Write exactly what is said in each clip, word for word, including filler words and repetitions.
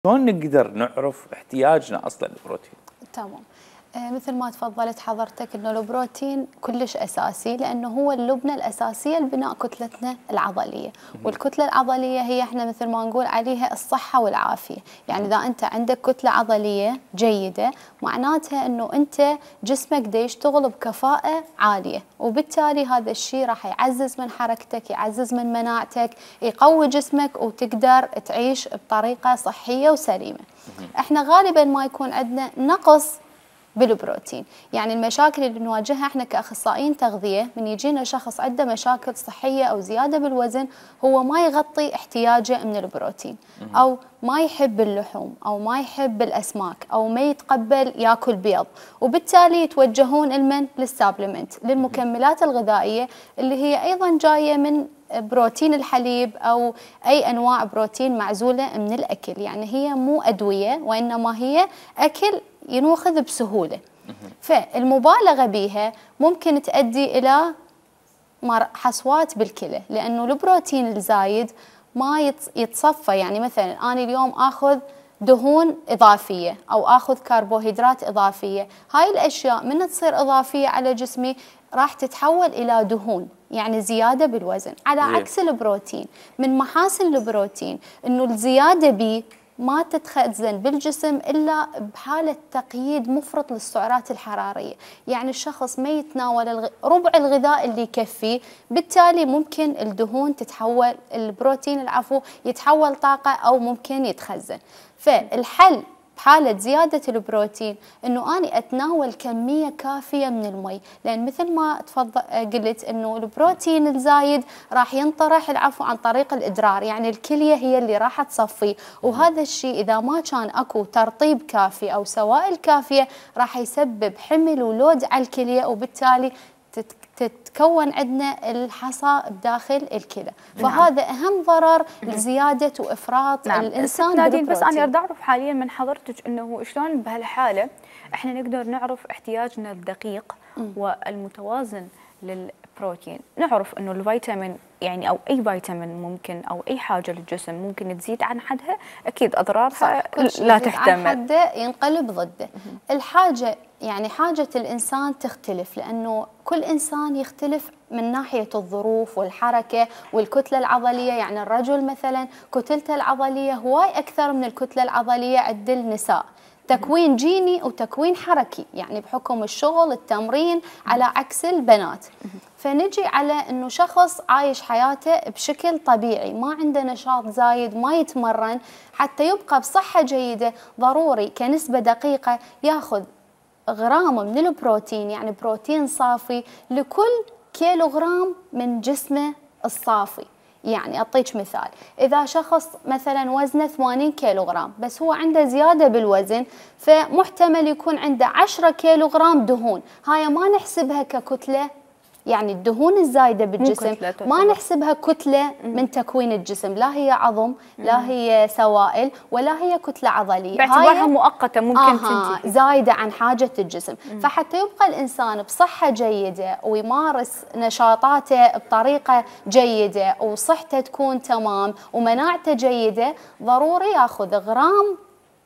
شلون نقدر نعرف احتياجنا اصلا للبروتين؟ تمام. آه مثل ما تفضلت حضرتك انه البروتين كلش اساسي، لانه هو اللبنه الاساسيه لبناء كتلتنا العضليه، والكتله العضليه هي احنا مثل ما نقول عليها الصحه والعافيه، يعني اذا انت عندك كتله عضليه جيده معناتها انه انت جسمك دا يشتغل بكفاءه عاليه، وبالتالي هذا الشيء راح يعزز من حركتك، يعزز من مناعتك، يقوي جسمك وتقدر تعيش بطريقه صحيه وسليمه. احنا غالبا ما يكون عندنا نقص بالبروتين، يعني المشاكل اللي نواجهها احنا كاخصائيين تغذيه من يجينا شخص عنده مشاكل صحيه او زياده بالوزن، هو ما يغطي احتياجه من البروتين، او ما يحب اللحوم، او ما يحب الاسماك، او ما يتقبل ياكل بيض، وبالتالي يتوجهون المن للسابلمنت، للمكملات الغذائيه اللي هي ايضا جايه من بروتين الحليب او اي انواع بروتين معزوله من الاكل، يعني هي مو ادويه وانما هي اكل ينوخذ بسهوله. فالمبالغه بها ممكن تؤدي الى حصوات بالكلى، لانه البروتين الزايد ما يتصفى، يعني مثلا انا اليوم اخذ دهون اضافيه او اخذ كربوهيدرات اضافيه، هاي الاشياء من تصير اضافيه على جسمي راح تتحول الى دهون، يعني زياده بالوزن، على عكس البروتين. من محاسن البروتين انه الزياده به ما تتخزن بالجسم الا بحاله تقييد مفرط للسعرات الحراريه، يعني الشخص ما يتناول الغ... ربع الغذاء اللي يكفيه، بالتالي ممكن الدهون تتحول، البروتين العفو يتحول طاقه او ممكن يتخزن. فالحل بحالة زيادة البروتين انه اني اتناول كمية كافية من المي، لان مثل ما تفضل قلت انه البروتين الزايد راح ينطرح العفو عن طريق الادرار، يعني الكلية هي اللي راح تصفيه، وهذا الشيء اذا ما كان اكو ترطيب كافي او سوائل كافية راح يسبب حمل ولود على الكلية، وبالتالي تتكون عندنا الحصى بداخل الكلى. نعم. فهذا اهم ضرر لزياده وافراط نعم. الانسان بالبروتين. بس انا اريد اعرف حاليا من حضرتك انه شلون بهالحاله احنا نقدر نعرف احتياجنا الدقيق والمتوازن للبروتين. نعرف انه الفيتامين يعني او اي فيتامين ممكن او اي حاجه للجسم ممكن تزيد عن حدها، اكيد اضرارها لا تحتمل، عن حده ينقلب ضده. الحاجه يعني حاجه الانسان تختلف، لانه كل انسان يختلف من ناحيه الظروف والحركه والكتله العضليه، يعني الرجل مثلا كتلته العضليه هواي اكثر من الكتله العضليه عند النساء، تكوين جيني وتكوين حركي، يعني بحكم الشغل التمرين، على عكس البنات. فنجي على انه شخص عايش حياته بشكل طبيعي، ما عنده نشاط زايد، ما يتمرن، حتى يبقى بصحة جيدة ضروري كنسبة دقيقة ياخذ غرام من البروتين، يعني بروتين صافي لكل كيلو غرام من جسمه الصافي. يعني أعطيك مثال، إذا شخص مثلا وزنه ثمانين كيلو غرام بس هو عنده زيادة بالوزن، فمحتمل يكون عنده عشرة كيلو غرام دهون، هاي ما نحسبها ككتلة، يعني الدهون الزايدة بالجسم ما نحسبها كتلة من تكوين الجسم، لا هي عظم، لا هي سوائل، ولا هي كتلة عضلية، باعتبارها مؤقتة ممكن آه تنتهي، زايدة عن حاجة الجسم. مم. فحتى يبقى الإنسان بصحة جيدة ويمارس نشاطاته بطريقة جيدة وصحته تكون تمام ومناعته جيدة، ضروري ياخذ غرام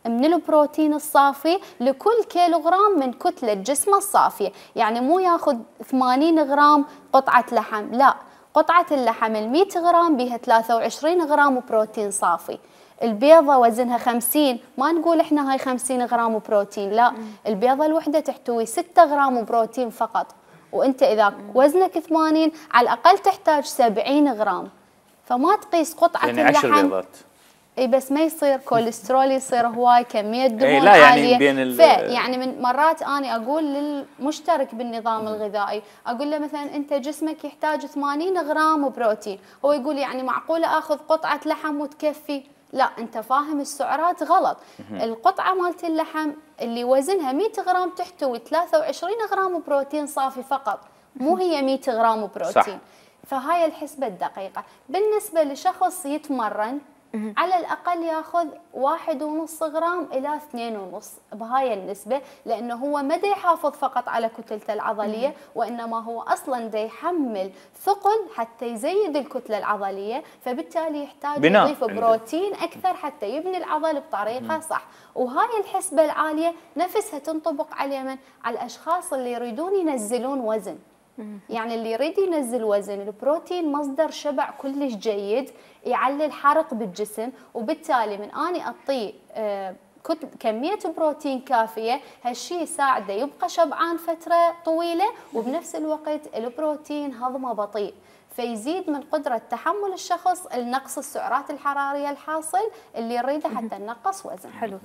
من البروتين الصافي لكل كيلو غرام من كتلة جسمه الصافية، يعني مو ياخذ ثمانين غرام قطعة لحم، لا، قطعة اللحم المئة غرام بها ثلاثة وعشرين غرام بروتين صافي. البيضة وزنها خمسين، ما نقول احنا هاي خمسين غرام بروتين، لا، البيضة الوحدة تحتوي ستة غرام بروتين فقط، وانت اذا وزنك ثمانين على الاقل تحتاج سبعين غرام، فما تقيس قطعة يعني اللحم. عشر بيضات. اي بس ما يصير كوليسترول، يصير هواي كميه دهون إيه لا يعني عاليه. بين ال... يعني من مرات اني اقول للمشترك بالنظام الغذائي، اقول له مثلا انت جسمك يحتاج ثمانين غرام بروتين، هو يقول يعني معقوله اخذ قطعه لحم وتكفي؟ لا، انت فاهم السعرات غلط. القطعه مالت اللحم اللي وزنها مئة غرام تحتوي ثلاثة وعشرين غرام بروتين صافي فقط، مو هي مئة غرام بروتين. صح. فهاي الحسبه الدقيقه. بالنسبه لشخص يتمرن على الاقل ياخذ واحد ونص غرام الى اثنين ونص بهاي النسبه، لانه هو ما دا يحافظ فقط على كتلته العضليه، وانما هو اصلا دا يحمل ثقل حتى يزيد الكتله العضليه، فبالتالي يحتاج بناء يضيف بروتين اكثر حتى يبني العضل بطريقه صح. وهاي الحسبه العاليه نفسها تنطبق على من؟ على الاشخاص اللي يريدون ينزلون وزن. يعني اللي يريد ينزل وزن، البروتين مصدر شبع كلش جيد، يعلي الحرق بالجسم، وبالتالي من اني اعطيه آه كميه بروتين كافيه، هالشيء يساعده يبقى شبعان فتره طويله، وبنفس الوقت البروتين هضمه بطيء، فيزيد من قدره تحمل الشخص لنقص السعرات الحراريه الحاصل اللي نريده حتى ننقص وزن. حلو.